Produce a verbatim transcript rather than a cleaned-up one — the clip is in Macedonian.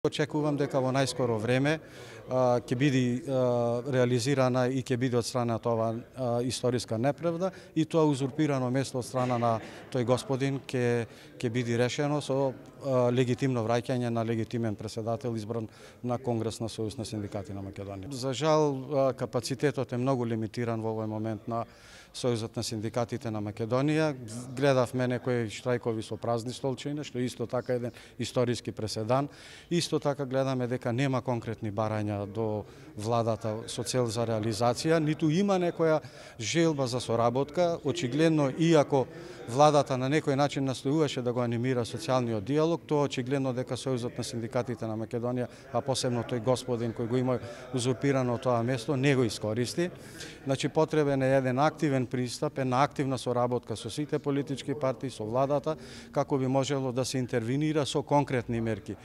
Очекувам дека во најскоро време ќе биде реализирана и ќе биде отстранета ова историска неправда и тоа узурпирано место од страна на тој господин ќе ќе биде решено со легитимно враќање на легитимен претседател избран на Конгрес на Сојуз на синдикати на Македонија. За жал капацитетот е многу лимитиран во овој момент на Сојузот на синдикатите на Македонија. Гледавме некои штрајкови со празни столчиња, што исто така еден историски преседан. Исто така гледаме дека нема конкретни барања до владата со цел за реализација, ниту има некоја желба за соработка. Очигледно, иако владата на некој начин настојуваше да го анимира социјалниот диалог, тоа очигледно дека Сојузот на синдикатите на Македонија, а посебно тој господин кој го има узурпирано тоа место, не го искористи. Значи, потребен е еден активен пристап, една активна соработка со сите политички партии, со владата, како би можело да се интервенира со конкретни мерки.